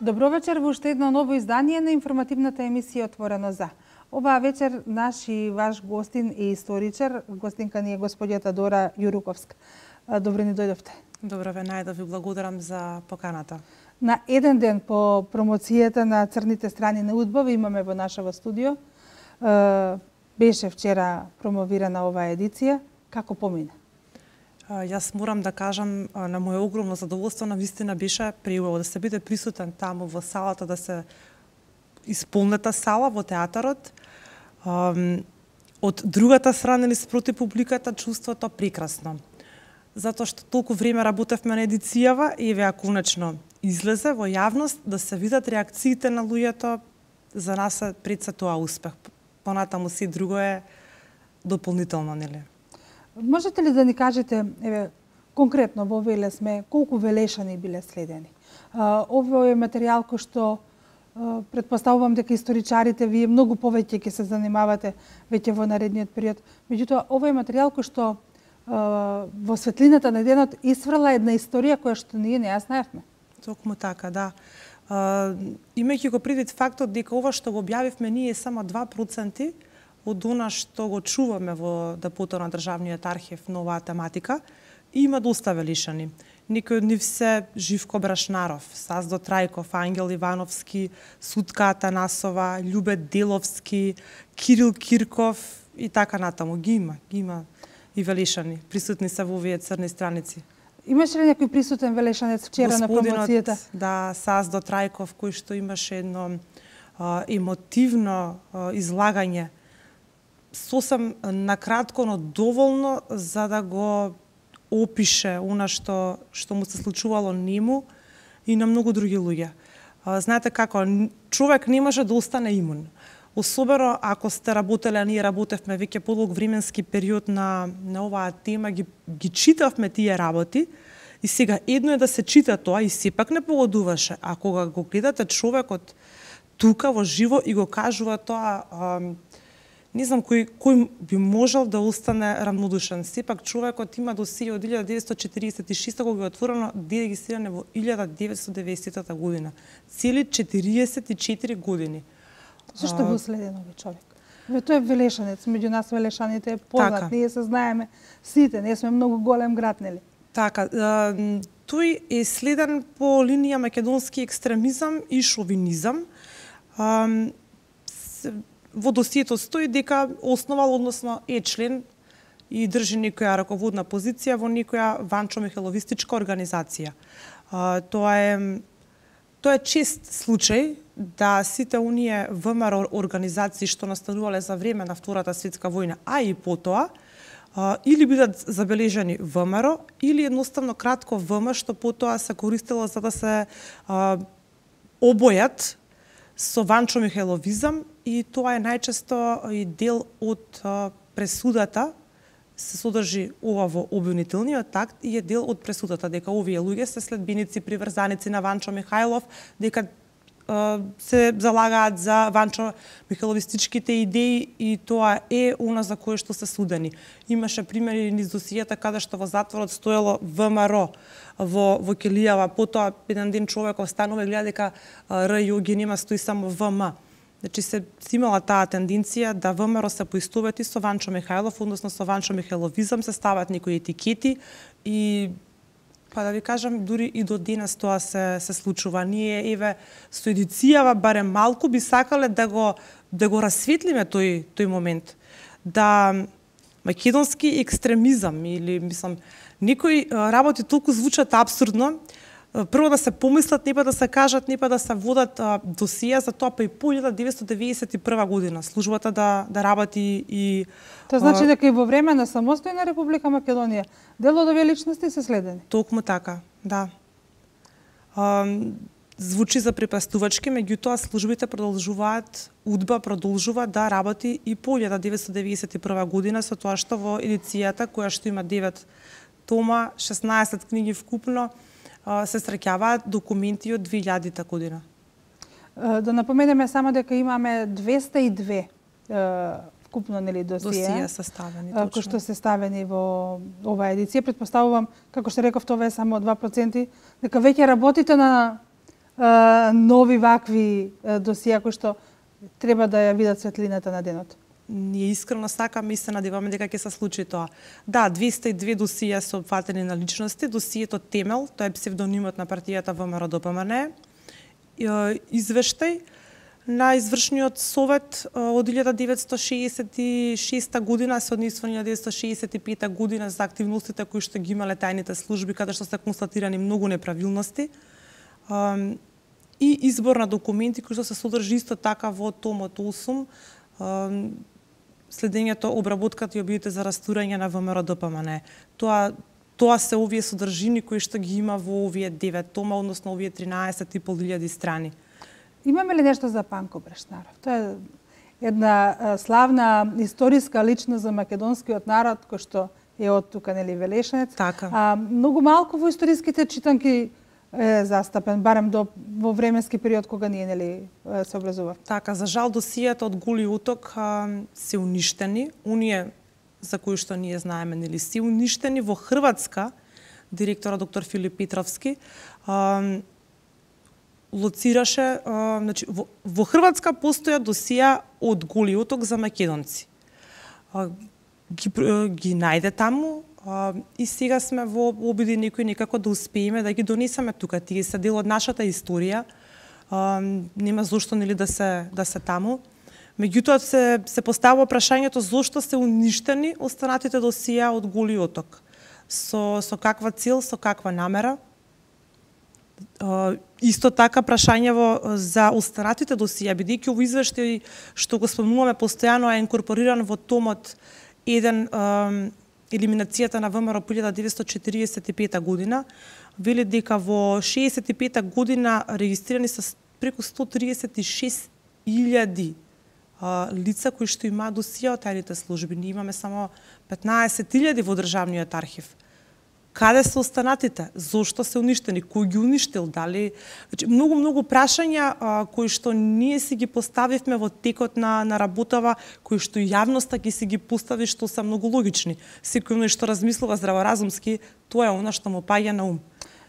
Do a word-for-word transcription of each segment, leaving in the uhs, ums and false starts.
Добро вечер во уште едно ново издание на информативната емисија Отворено за. Оваа вечер наш и ваш гостин е историчар, гостинка ни е господјата Дора Јуруковска. Добро ни дојдовте. Добро ве најдов, ви благодарам за поканата. На еден ден по промоцијата на црните страни на удба имаме во нашето студио. Беше вчера промовирана оваа едиција. Како помина? Јас морам да кажам, на моје огромно задоволство, на вистина беше преубаво да се биде присутен таму во салата, да се исполнета сала во театарот. Од другата страна или спроти публиката, чувството прекрасно. Затоа што толку време работевме на едицијава и еве конечно излезе во јавност да се видат реакциите на луѓето, за нас е пред се тоа успех. Понатаму си друго е дополнително, нели? Можете ли да ни кажете, еве, конкретно во Веле сме, колку велешани биле следени? Ово е материјал кој што претпоставувам дека историчарите вие многу повеќе ќе се занимавате веќе во наредниот период. Меѓутоа, ово е материјал кој што во светлината на денот исфрла една историја која што ние не ја знаевме. Токму така, да. Имајќи го предвид фактот дека ова што го објавивме ние е само два проценти од она што го чуваме во депото на Државниот архив на оваа тематика, има доста велишани. Некои од нив се Живко Брашнаров, Саздо Трајков, Ангел Ивановски, Сутка Атанасова, Љубе Деловски, Кирил Кирков и така натаму. Ги има, ги има и велишани. Присутни се во овие црни страници. Имаше ли некој присутен велешанец вчера на промоцијата? Да, Саздо Трајков, кој што имаше едно а, емотивно а, излагање, сосем накратко, но доволно за да го опише она што што му се случувало нему и на многу други луѓе. Знаете како, човек не може да остане имун. Особено ако сте работеле, а ние работевме веќе подолг временски период на на оваа тема, ги ги читавме тие работи и сега едно е да се чита тоа и сепак не погодуваше, а кога го гледате човекот тука во живо и го кажува тоа, не знам кој, кој би можел да остане рамнодушен. Сепак човекот има досие од илјада деветстотини четиридесет и шеста кога е отворено, регистриране во илјада деветстотини деветдесета година. Цели четириесет и четири години. Зашто го следен овој човек? Тој е велешанец, меѓу нас велешаните е познат, така. Ние се знаеме сите, ние сме многу голем град, нели? Така, тој е следен по линија македонски екстремизам и шовинизам. Во досието стои дека основал, односно е член и држи некоја раководна позиција во некоја ванчо-михайловистичка организација. Тоа е тоа е чест случај да сите оние ВМРО организации што настанувале за време на Втората светска војна, а и потоа, или бидат забележани ВМРО, или едноставно кратко ВМ, што потоа се користело за да се обојат со ванчо-михайловизам, и тоа е најчесто и дел од пресудата, се содржи ова во обвинителниот акт и е дел од пресудата дека овие луѓе се следбеници, приврзаници на Ванчо Михајлов, дека се залагаат за ванчо-михайловистичките идеи и тоа е она за кое што се судени. Имаше примери низ досијата каде што во затворот стоело ВМРО во во Келијава, потоа еден ден човек останува и гледа дека РЈ ги нема, стои само ВМ. Значи се имала таа тенденција да ВМРО се поистовети со Ванчо Михајлов, односно со ванчо-михайловизам, се стават некои етикети и па да ви кажам, дури и до денес тоа се се случува. Ние еве со едицијава барем малку би сакале да го да го расветлиме тој тој момент. Да македонски екстремизам или мислам некои работи толку звучат апсурдно. Прво да се помислат, не па да се кажат, не па да се водат досија за тоа, па и по илјада деветстотини деведесет и прва година службата да да работи и тоа значи а... дека и во време на самостојна Република Македонија дел од овие личности се следени. Токму така, да. А, звучи за препастувачки, меѓутоа службите продолжуваат, УДБА продолжува да работи и по илјада деветстотини деведесет и прва година, со тоа што во едицијата која што има девет тома, шеснаесет книги вкупно, се среќаваат документи од две илјадата година. Да напоменеме само дека имаме двеста и две вкупно, нели, досија, досија составени, кои што се ставени во оваа едиција. Претпоставувам, како што реков, тоа е само два проценти, дека веќе работите на нови вакви досија кои што треба да ја видат светлината на денот? Ние искрено сакаме и се надеваме дека ќе се случи тоа. Да, двеста и две досија се опфатени на личности. Досието Темел, тоа е псевдонимот на партијата ВМРО Д П М Н, извештај на извршниот совет од илјада деветстотини шеесет и шеста година се однесува на илјада деветстотини шеесет и пета година за активностите кои што ги имале тајните служби, каде што се констатирани многу неправилности. И избор на документи кои што се содржи исто така во томот осум, следењето, обработката и обидите за растурање на ВМРО Д П М Н. Тоа тоа се овие содржини кои што ги има во овие девет тома, односно овие тринаесет и пол илјади страни. Имаме ли нешто за Панко Брешнаров? Тоа е една славна историска личност за македонскиот народ кој што е од тука, нели, Велешанец. Така. А, многу малку во историските читанки е застапен, барем до во временски период кога ние, нели, се образува. Така, за жал досијата од Голи уток а, се уништени. Оние за кои што ние знаеме, нели, се уништени. Во Хрватска директорот доктор Филип Петровски а, лоцираше, а, значи во, во Хрватска постоја досија од Голи уток за македонци. А, ги, ги најде таму. Uh, и сега сме во обиди некои некако да успееме да ги донесеме тука. Тие се дел од нашата историја. Uh, нема зошто, нели, да се да се таму. Меѓутоа се се поставува прашањето зошто се уништени останатите досија од Голи уток. Со со каква цел, со каква намера? Uh, исто така прашањево за останатите досија, бидејќи овој извештај што го спомнуваме постојано е инкорпориран во томот еден uh, елиминацијата на ВМРО по илјада деветстотини четириесет и пета година, вели дека во шеесет и пета година регистрирани се преку сто триесет и шест илјади лица кои што имаат досија од тајните служби. Ние имаме само петнаесет илјади во државниот архив. Каде се останатите? Зошто се уништени? Кој ги уништил? Дали? Значи, многу, многу прашања а, кои што ние си ги поставивме во текот на, на работава, кои што јавноста ќе си ги постави, што се многу логични. Секој оној што размислува здраворазумски, тоа е она што му паѓа на ум.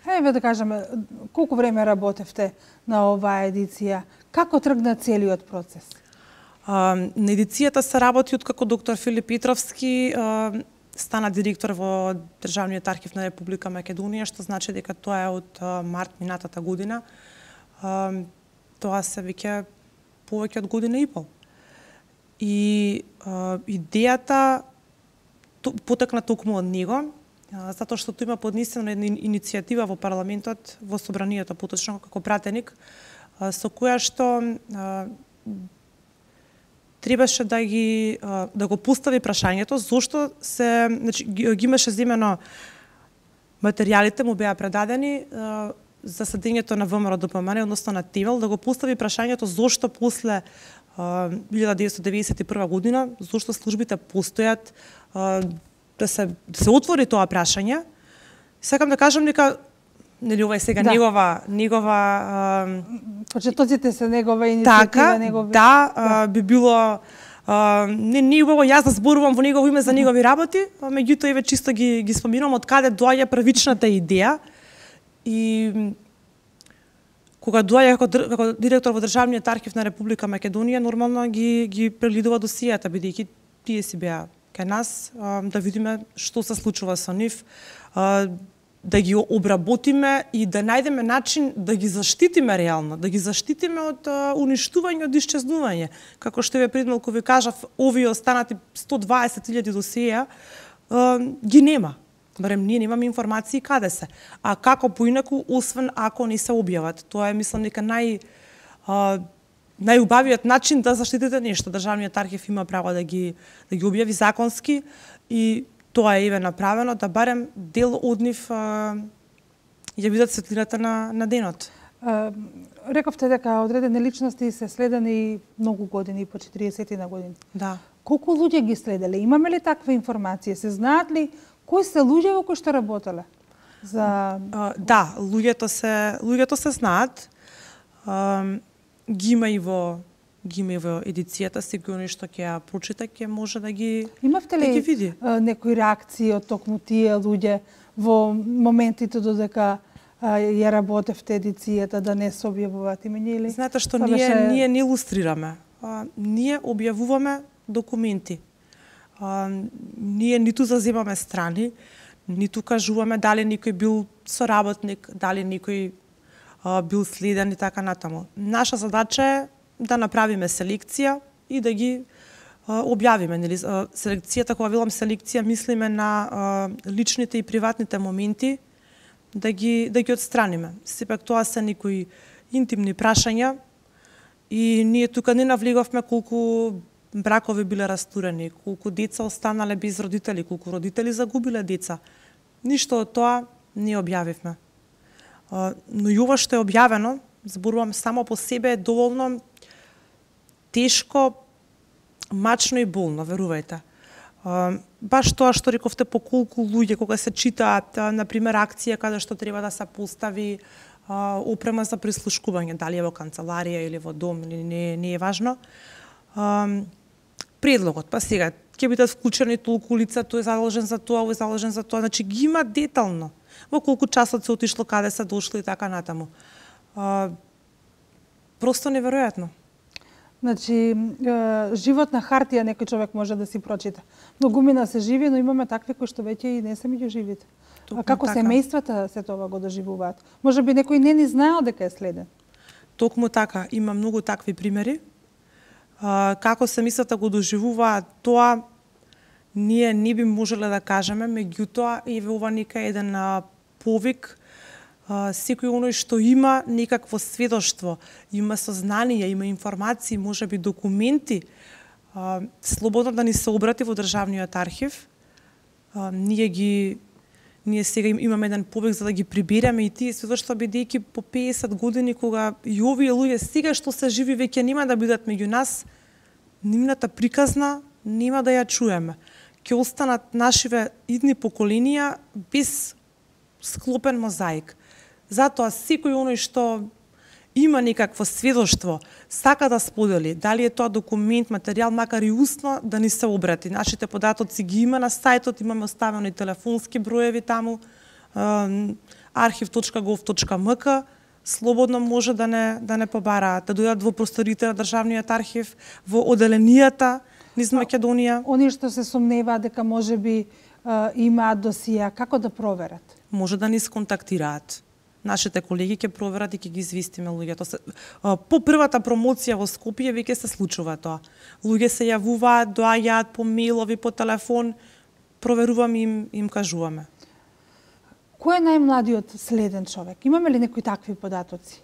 Еве да кажеме, колку време работевте на оваа едиција? Како тргна целиот процес? А, на едицијата се работи откако доктор Филип Петровски а, стана директор во Државниот архив на Република Македонија, што значи дека тоа е од март минатата година. Тоа се веќе повеќе од година и пол. И идејата потекна токму од него, затоа што тој има поднесена една иницијатива во парламентот, во собранието поточно како пратеник, со која што требаше да ги да го постави прашањето зошто се, значи ги, ги имаше земено материјалите му беа предадени за седењето на ВМРО Д П М Н, односно на Темел, да го постави прашањето зошто после илјада деветстотини деведесет и прва година, зошто службите постојат, да се да се отвори тоа прашање. Сакам да кажам дека нели ова е сега да. негова негова почетоците се негова иницијатива, така, негови да, да. би било а, не не убаво јас да зборувам во негово име за негови работи, меѓутоа еве чисто ги ги споминам од каде доаѓа првичната идеја и кога доаѓа како, како директор во Државниот архив на Република Македонија, нормално ги ги прелидува досијата, бидејќи тие си беа кај нас, а, да видиме што се случува со нив, а, да ги обработиме и да најдеме начин да ги заштитиме реално, да ги заштитиме од а, уништување, од исчезнување. Како што ве пред малку ви кажав, овие останати сто дваесет илјади досија а, ги нема. Барем ние немаме информации каде се. А како поинаку, освен ако не се објават. Тоа е, мислам, дека нај а, најубавиот начин да заштитите нешто. Државниот архив има право да ги да ги објави законски и тоа е еве направено, да барем дел од нив а, ја видат светлината на, на денот. А, рековте дека одредени личности се следени многу години, по четириесет на години. Да. Колку луѓе ги следеле? Имаме ли таква информација? Се знаат ли кои се луѓе во кои што работеле? За... А, да, луѓето се, луѓето се знаат. А, ги има и во ги има во едицијата, секој нешто ќе ја прочита, ќе може да ги Имавте ли да ги види. некои реакции од токму тие луѓе во моментите додека ја работевте едицијата да не се објавуваат имења или? Знаете што ние беше... ние не илустрираме. А, ние објавуваме документи. А, ние ниту заземаме страни, ниту кажуваме дали некој бил соработник, дали некој а, бил следен и така натаму. Наша задача е да направиме селекција и да ги а, објавиме. Нели? Селекцијата, кога велам селекција, мислиме на а, личните и приватните моменти, да ги да ги отстраниме. Сепак тоа се некои интимни прашања и ние тука не навлеговме колку бракови биле растурени, колку деца останале без родители, колку родители загубиле деца. Ништо од тоа не објавивме. Но и ова што е објавено, зборувам само по себе, е доволно тешко, мачно и болно, верувајте. Баш тоа што рековте по колку луѓе, кога се читаат, например, акција каде што треба да се постави опрема за прислушкување, дали е во канцеларија или во дом, или не, не е важно. Предлогот, па сега, ќе бидат вклучени толку лица, тој е задолжен за тоа, овој е задолжен за тоа, значи ги има детално. Во колку часот се отишло, каде се дошли и така натаму. Просто неверојатно. Значи, живот на хартија некој човек може да си прочита. Многумина се живи, но имаме такви кои што веќе и не се меѓу живите. А како така. Семејствата се тоа го доживуваат? Може би некој не ни знаел дека е следен. Токму така, има многу такви примери. Како семејствата го доживуваат, тоа ние не би можеле да кажеме, меѓутоа и во ова нека еден повик. Uh, секој оној што има некакво сведоштво, има сознание, има информации, може би документи, uh, слободно да ни се обрати во Државниот архив. Uh, ние ги ние сега имаме еден повик за да ги прибереме и тие сведоштва, бидејќи по песет години кога и овие луѓе сега што се живи веќе нема да бидат меѓу нас, нивната приказна нема да ја чуеме. Ќе останат нашиве идни поколенија без склопен мозаик. Затоа секој оној што има некакво сведоштво, сака да сподели, дали е тоа документ, материјал, макар и устно, да ни се обрати. Нашите податоци ги има на сајтот, имаме оставени телефонски броеви таму, архив точка гов точка ем ка, слободно може да не, да не побараат, да дојдат во просторите на Државниот архив, во оделенијата низ Македонија. Они што се сомневаат дека може би имаат досија, како да проверат? Може да ни сконтактираат. Нашите колеги ќе проверат и ќе ги известиме луѓето. По првата промоција во Скопје веќе се случува тоа. Луѓе се јавуваат, доаѓаат по мејлови, по телефон, проверуваме им, им кажуваме. Кој е најмладиот следен човек? Имаме ли некои такви податоци?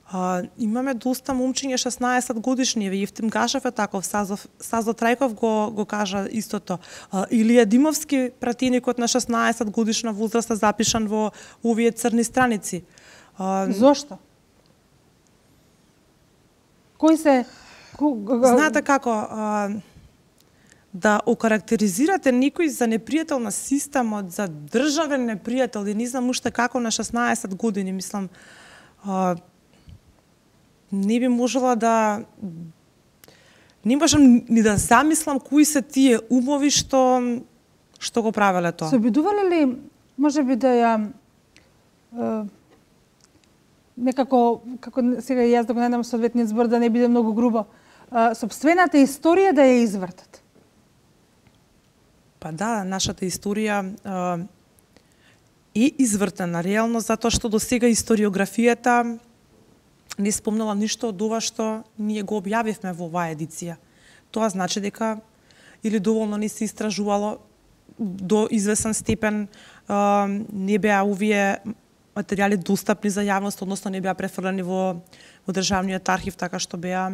А, имаме доста момчиња шеснаесет годишни, Евтим Гашев е таков, Сазо, Сазо Трајков го, го кажа истото. А, Илија Димовски, пратеникот на шеснаесет годишна возраст, запишан во овие црни страници. А, Зошто? Кој се... Знаете како, а, да окарактеризирате некој за непријател на системот, за државен непријател, и не знам уште како на шеснаесет години, мислам, а, не би можела да... Не можам ни да замислам кои се тие умови што што го правеле тоа. Се обидувале ли, може би да ја е, некако, како сега јас да го најдам соодветниот збор, да не биде многу грубо, е, сопствената историја да ја извртат? Па да, нашата историја е извртена реално, затоа што до сега историографијата не спомнала ништо од ова што ние го објавивме во оваа едиција. Тоа значи дека или доволно не се истражувало, до извесен степен а, не беа овие материјали достапни за јавност, односно не беа префрлени во, во Државниот архив, така што беа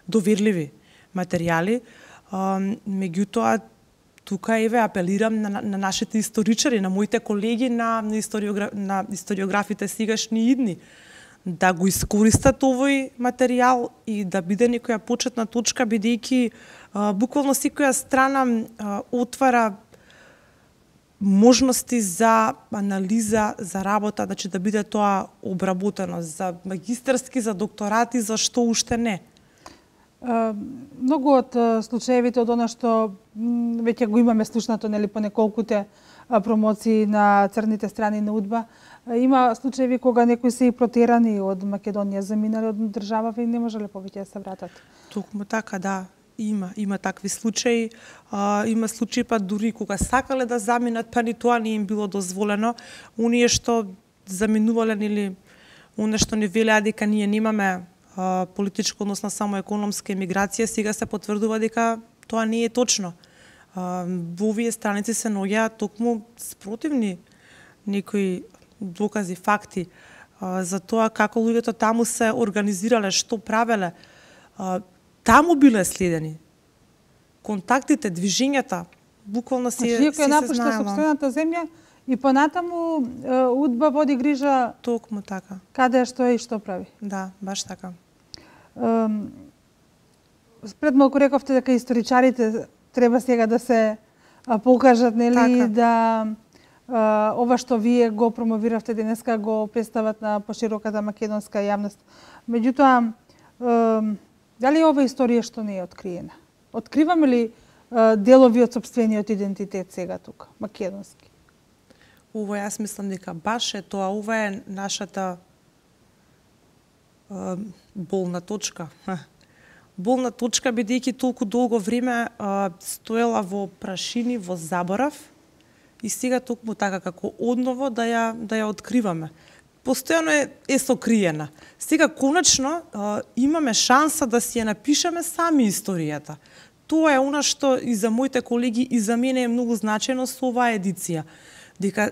доверливи материјали. А, меѓутоа, тука еве апелирам на, на нашите историчари, на моите колеги, на, на, историограф, на историографите сегашни и идни, да го искористат овој материјал и да биде некоја почетна точка, бидејќи буквално секоја страна а, отвара можности за анализа, за работа, значи да биде тоа обработено за магистарски, за докторати, за што уште не. А, многу од случаевите од она што веќе го имаме слушнато, нели, по неколкуте промоции на црните страни на УДБА. Има случаи кога некои се и протерани од Македонија, заминали од државава и не можеле повеќе да се вратат. Токму така, да. Има, има такви случаи. А, има случаи па дури кога сакале да заминат, па ни тоа не им било дозволено. Оние што заминувале или оние што ни велеа дека ние немаме а, политичко, односно само економска емиграција, сега се потврдува дека тоа не е точно. А, во овие страници се наоѓаат токму спротивни некои докази, факти а, за тоа како луѓето таму се организирале, што правеле. А, таму биле следени. Контактите, движењата, буквално се, значи, се, се напушта сопствената земја и понатаму УДБА води грижа токму така. Каде што е и што прави. Да, баш така. Um, пред малку рековте дека историчарите треба сега да се а, покажат, нели, така. Да а, ова што вие го промовиравте денеска го представат на пошироката македонска јавност. Меѓутоа, а, дали ова историја што не е откриена? Откриваме ли а, делови од сопствениот идентитет сега тука, македонски? Ова јас мислам дека баш е тоа, ова е нашата а, болна точка. Болна точка, бидејќи толку долго време а, стоела во прашини, во заборав, и сега токму така како одново да ја да ја откриваме. Постојано е, е сокриена. Сега конечно а, имаме шанса да си ја напишеме сами историјата. Тоа е она што и за моите колеги и за мене е многу значено со оваа едиција. Дека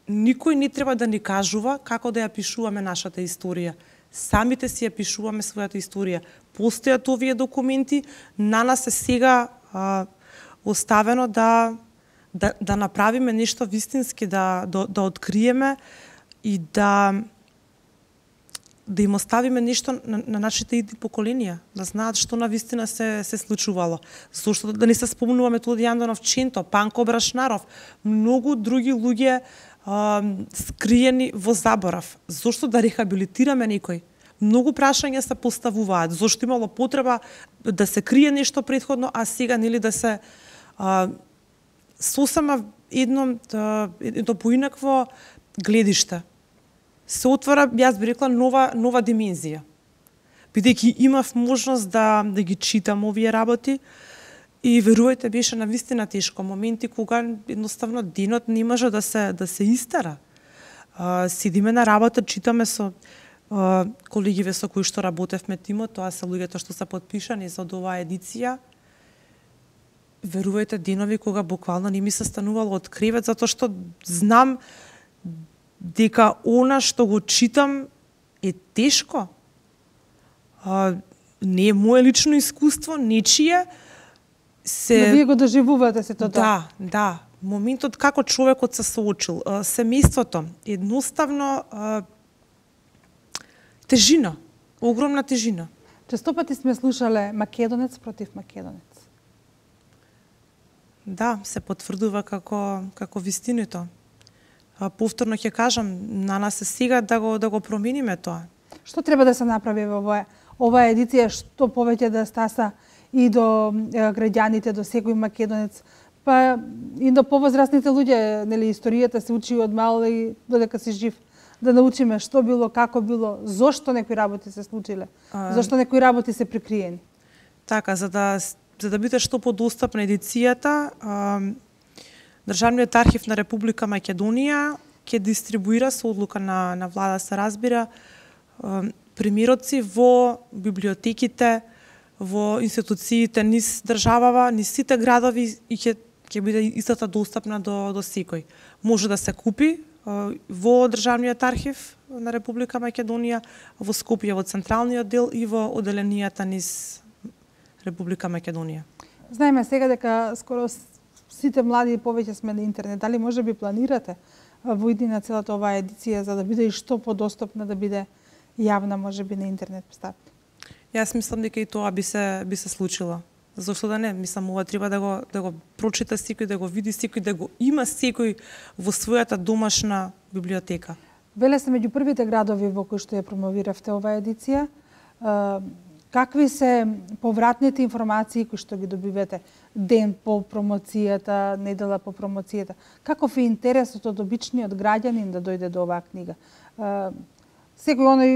никој не треба да ни кажува како да ја пишуваме нашата историја. Самите си ја пишуваме својата историја. Постојат овие документи, на нас е сега а, оставено да, да, да направиме нешто вистински, да, да, да откриеме и да да им оставиме нешто на, на нашите идни поколенија, да знаат што на вистина се се случувало. Зошто да не се спомнуваме Тодор Јанданов Ченто, Панко Брашнаров, многу други луѓе а, скриени во заборав. Зошто да рехабилитираме некој? Многу прашања се поставуваат. Зошто имало потреба да се крие нешто претходно, а сега нели да се а, сосема едно едно поинакво гледиште. Се отвара, јас би рекла, нова нова димензија. Бидејќи имав можност да да ги читам овие работи и верувајте, беше навистина тешко, моменти кога едноставно денот не може да се да се истера. А, седиме на работа, читаме со а, колегиве со кои што работевме тимот, тоа се луѓето што се потпишани за оваа едиција. Верувајте, денови кога буквално не ми се станувало од кревет, затоа што знам дека она што го читам е тешко. А, не е мое лично искуство, нечие. Се... Но вие го доживувате се тоа. Да, да. Моментот како човекот се соочил, а, семејството, едноставно а, тежина, огромна тежина. Често пати сме слушале македонец против македонец. Да, се потврдува како како вистиното. Повторно ќе кажам, на нас е сега да го да го промениме тоа. Што треба да се направи во оваа оваа едиција, што повеќе да стаса и до граѓаните, до секој македонец, па и до повозрастните луѓе, нели историјата се учи од мал и додека си жив, да научиме што било, како било, зошто некои работи се случиле, а... зошто некои работи се прикриени. Така, за да за да биде што подостапна едицијата, а... Државниот архив на Република Македонија ќе дистрибуира со одлука на, на влада, се разбира, примероци во библиотеките, во институциите низ државава, низ сите градови и ќе ќе биде истата достапна до до секој. Може да се купи во Државниот архив на Република Македонија, во Скопје во централниот дел и во оделенијата низ Република Македонија. Знаеме сега дека скоро сите млади повеќе сме на интернет. Дали може би планирате во иднина целата оваа едиција за да биде и што подостапна, да биде јавна, може би на интернет представка? Јас мислам дека и тоа би се би се случило. Зошто да не? Мислам, ова треба да го да го прочита секој, да го види секој, да го има секој во својата домашна библиотека. Веле се меѓу првите градови во кои што ја промовиравте оваа едиција. какви се повратните информации кои што ги добивате ден по промоцијата, недела по промоцијата? Каков е интересот од обичниот граѓанин да дојде до оваа книга? Секој оној,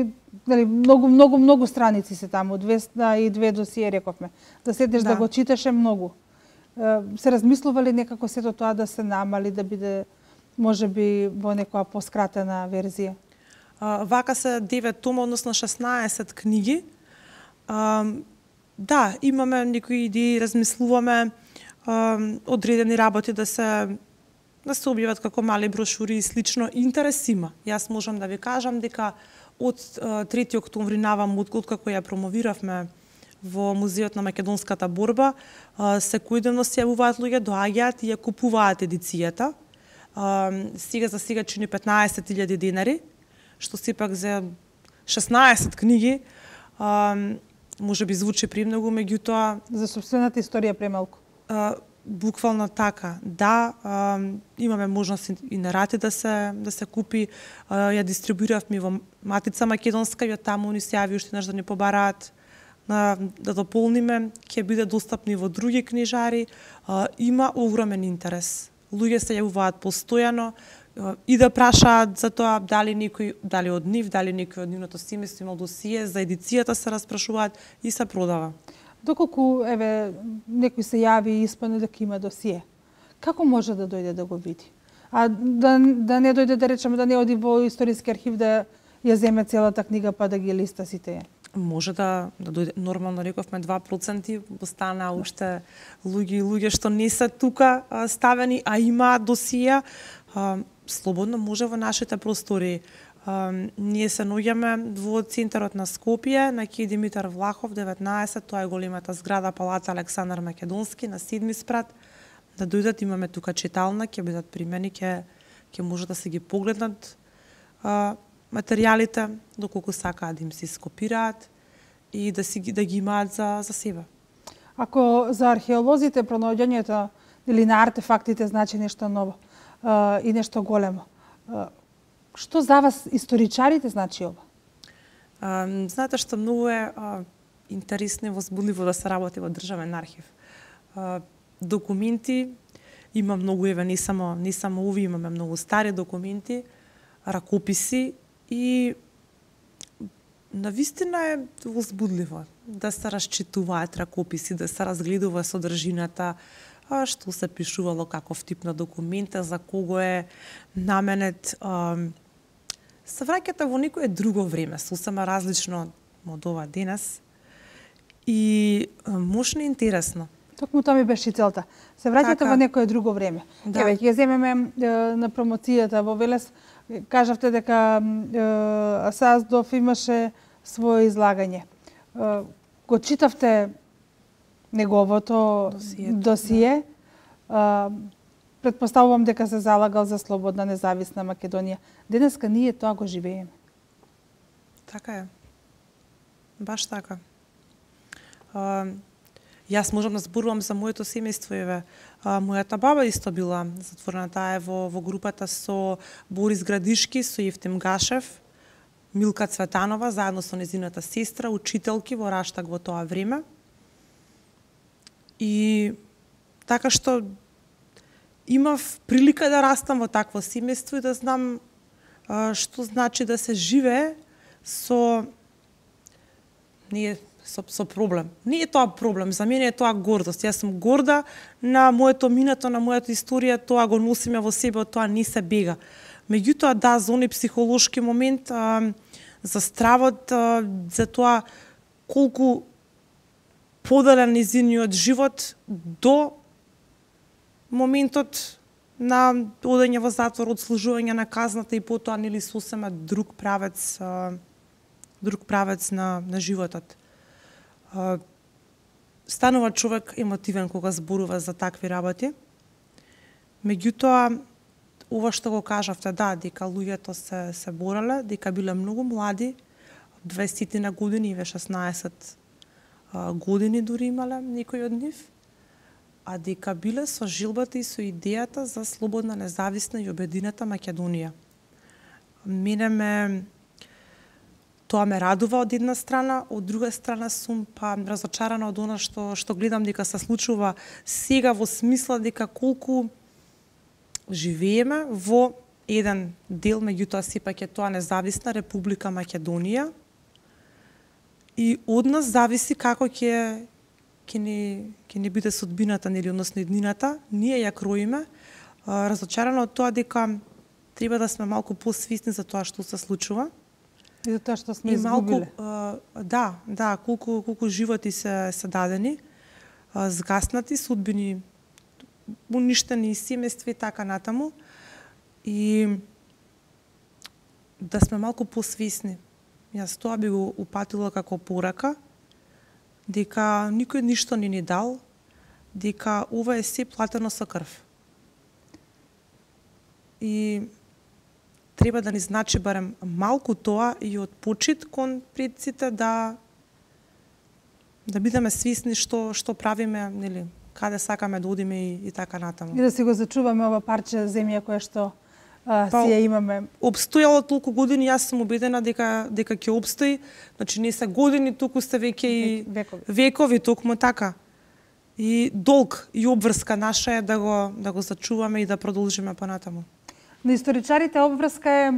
нели, многу, многу, многу страници се таму, двеста и две досие, рековме. Да седнеш да, да го читаш е многу. Се размислува ли некако сето тоа да се намали, да биде, може би, во некоја поскратена верзија? А, вака се девет тома, односно шеснаесет книги. А, да, имаме некои идеи, размислуваме а, одредени работи да се да се објават како мали брошури и слично. Интерес има. Јас можам да ви кажам дека од трети октомври навам, откако ја промовиравме во Музеот на македонската борба, секојдневно се јавуваат луѓе, доаѓаат и ја купуваат едицијата. Сега за сега чини петнаесет илјади денари, што сепак за шеснаесет книги може би звучи премногу, меѓутоа за сопствената историја премалку. Буквално така, да, а, имаме можност и на рати да се да се купи, а, ја дистрибуиравме во Матица Македонска, и таму ни се јави уште нешто да ни побараат на да дополниме, ќе биде достапни во други книжари. А, има огромен интерес. Луѓе се јавуваат постојано а, и да прашаат за тоа дали некој, дали од нив, дали некој од нивното семејство има досие, за едицијата се распрашуваат и се продава. Доколку, еве, некој се јави и испадне дека има досие, како може да дојде да го види? А да, да не дојде, да речеме, да не оди во историски архив да ја земе целата книга па да ги листа сите? Може да, да дојде, нормално рековме два проценти, остана уште луѓе и луѓе што не се тука а, ставени, а има досија, а, слободно може во нашите простори. Uh, ние се наоѓаме во центарот на Скопје, на Ке Димитар Влахов, деветнаесет, тоа е големата зграда Палаца Александар Македонски, на седми спрат. Да дојдат, имаме тука читална, ќе бидат примени, ќе ќе може да се ги погледнат uh, материјалите, доколку сакаат да им се скопираат и да, си, да ги имаат за, за себе. Ако за археолозите пронаоѓањето или на артефактите значи нешто ново uh, и нешто големо, uh, што за вас историчарите значи ова? А, знаете што многу е а, интересно и возбудливо да се работи во државен архив. А, документи има многу, еве не само не само ови, имаме многу стари документи, ракописи и навистина е возбудливо да се расчитуваат ракописи, да се разгледува содржината, а што се пишувало, каков тип на документа, за кого е наменет. А, се враќате во некое друго време, сосема различно од ова денес. И мощно интересно. Токму тоа ми беше целта. Се враќате така во некое друго време. Да. Еве, ќе земеме е, на промоцијата во Велес. Кажавте дека е, Саздов имаше свое излагање. Е, го читавте неговото Досието, досие. Да. Е, Предпоставувам дека се залагал за слободна, независна Македонија. Денеска ние тоа го живееме. Така е. Баш така. А, јас можам да зборувам за моето семејство, еве. А, мојата баба исто била затворена, таа е во, во групата со Борис Градишки, со Евтим Гашев, Милка Цветанова, заедно со незината сестра, учителки во Раштаг во тоа време. И така што имав прилика да растам во такво семејство и да знам а, што значи да се живее со не со, со проблем. Не е тоа проблем, за мене е тоа гордост. Јас сум горда на моето минато, на мојата историја, тоа го носиме во себе, од тоа не се бега. Меѓутоа, да, за оној психолошки момент, а, за стравот, а, за тоа колку поделен низиниот живот до моментот на одење во затвор, одслужување на казната и потоа нели сосема друг правец, друг правец на на животот. Станува човек емотивен кога зборува за такви работи. Меѓутоа, ова што го кажавте, да, дека луѓето се се бореле, дека биле многу млади, дваесет на години, ве шеснаесет години дури имале некој од нив, а дека биле со жилбата и со идејата за слободна, независна и обединета Македонија. Мене ме тоа ме радува од една страна, од друга страна сум па разочарана од она што што гледам дека се случува сега, во смисла дека колку живееме во еден дел, меѓутоа сепак е тоа независна Република Македонија и од нас зависи како ќе ќе ни ќе ни биде судбината, нели, односно иднината. Ние ја кроиме, разочарана од тоа дека треба да сме малку посвесни за тоа што се случува. И за тоа што сме и малку, изгубиле. а, да, да, колку колку животи се се дадени, а, згаснати, судбини уништени, семејства и така натаму. И да сме малку посвесни. Јас тоа би го упатила како порака, дека никој ништо не ни дал, дека ова е се платено со крв. И треба да ни значи барем малку тоа и од почит кон предците да да бидеме свесни што што правиме, нели, каде сакаме да одиме и, и така натаму. И да си го зачуваме ова парче земја кое што а, Па, си ја имаме. Обстојало толку години, јас сум убедена дека дека ќе обстои. Значи не се години, туку сте веќе и Векови. векови, токму така. И долг и обврска наша е да го да го зачуваме и да продолжиме понатаму. На историчарите обврска е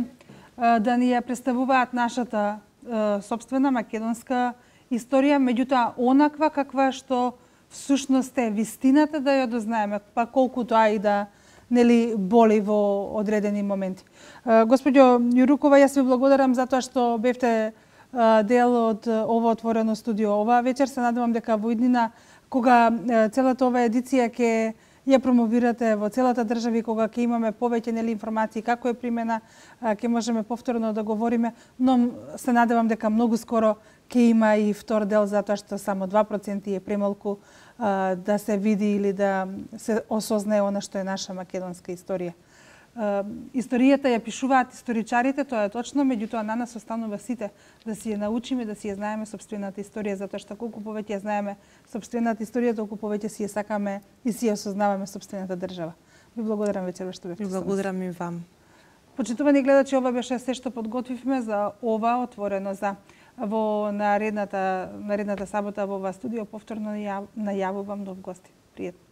а, да ни ја представуваат нашата а, собствена македонска историја, меѓутоа онаква каква што всушност е вистината, да ја дознаеме, па колку тоа и да нели боли во одредени моменти. А, Господјо Јурукова, јас ви благодарам за тоа што бевте а, дел од ова отворено студио. Оваа вечер се надевам дека во иднина, кога а, целата ова едиција ќе ја промовирате во целата држава, кога ќе имаме повеќе нели информации како е примена, ќе можеме повторно да говориме, но се надевам дека многу скоро ќе има и втор дел, затоа што само два проценти е премалку а, да се види или да се осознае она што е наша македонска историја. А, историјата ја пишуваат историчарите, тоа е точно, меѓутоа на нас останува сите да си ја научиме, да си ја знаеме собствената историја, затоа што колку повеќе ја знаеме собствената историја, толку повеќе си ја сакаме и си ја осознаваме собствената држава. Ви благодарам вечерва што бевте. Ви благодарам и вам. Почитувани гледачи, ова беше се што подготвивме за ова отворено за во наредната наредната сабота во ова студио. Повторно најавувам нов гости. Пријатно.